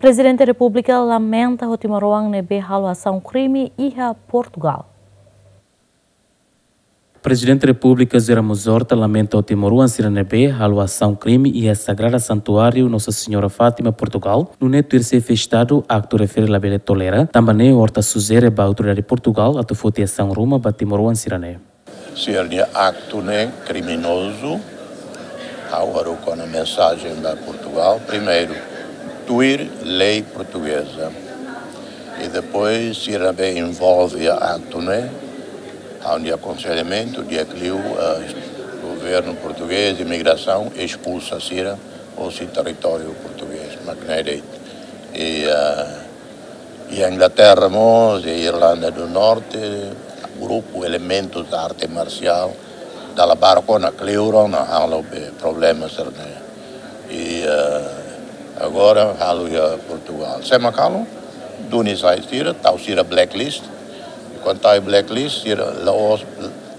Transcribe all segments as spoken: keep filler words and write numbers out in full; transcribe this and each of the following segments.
Prezidente Repúblika lamenta ho timoroan ne'ebé halo asaun krime iha Portugal. Prezidente Repúblika José Ramos Horta lamenta ho timoroan sira ne'ebé halo asaun krime iha Sagrada Santuáriu Nossa Senhora Fátima, Portugal, nune'e tuir Xefe Estadu aktu refere labele tolera, tanba ne'e Horta sujere ba autoridade Portugal atu foti asaun ruma ba timoroan sira-ne'e. Sira-nia aktu ne'e kriminozu. Ha'u haruka ona mensajen ba Portugal. Primeiru, tuir lei portugeza. I depois, sira be envolve iha aktu ne'e, ha'u-nia akonselhamentu, di'ak liu, eh, governu portugés, imigrasaun, espulsa sira hosi territóriu portugés, mak ne'e de'it. I, eh, iha Inglaterra mós, iha Irlanda do Norte, grupu elementus arte marsiál dala barak ona, kleur ona halo be problema sira-ne'e. I, eh, agora halo iha Portugal. Sé mak halo? Duni sai sira, tau sira blacklist. I kuandu tau blacklist, sira la'ós,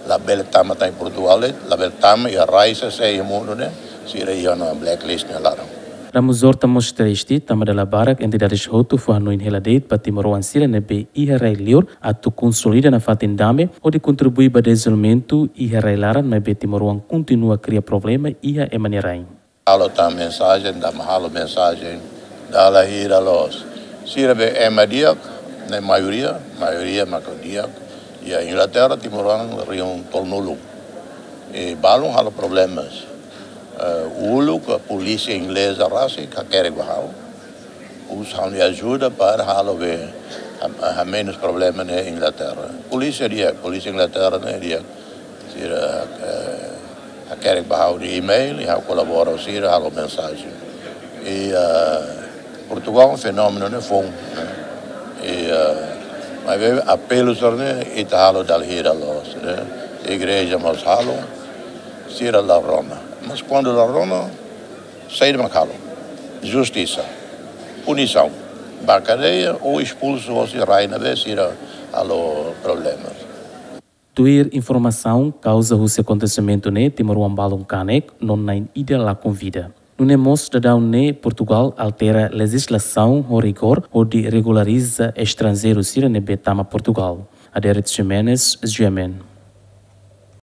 labele tama tan iha Portugal, labele tama iha rai sé iha mundu ne'e, sira iha ona blacklist nia laran. Ramos Horta mós triste, tanba dala barak entidades hotu fó hanoin hela de'it ba timoroan sira ne'ebé iha rai liur atu konsolida nafatin dame hodi kontribui ba dezenvolvimentu iha rai laran, maibé timoroan kontinua kria problema iha ema nia rain. Halo tan mensajen, dala halo mensajen, dala hira loos. Sira be ema di'ak, ne'e maioria, maioria mak di'ak. Iha Inglaterra, timoroan rihun tolunulu. I balun halo problemas. Eh, uluk polísia ingleza rasik hakerek ba ha'u. Husu ha'u-nia ajuda para halo be ha, hamenus problema ne'e Inglaterra. Polísia di'ak, polísia Inglaterra ne'e di'ak. Sira, eh, hakerek ba ha'u-nia email, i ha'u kolabora ho sira, halo mensajen. I, eh, Portugal fenómenu ne'e foun, ne'e. I, eh, maibé apelu sira-ne'e ita halo dala hira loos, ne'e. Igreja mós halo, sira la rona. Mas kuandu la rona, saida mak halo? Justisa. Punisaun. Ba kadeia ou espulsu hosi rai ne'ebé sira halo problema. Tuir informasaun, kauza husi akontesimentu ne'e timoroan balun kanek, no na'in ida lakon vida. Nune'e mós daudaun ne'e Portugal altera lejizlasaun ho rigór hodi regulariza estranjeiru sira ne'ebé tama Portugal. Adérito Ximenes, G M N.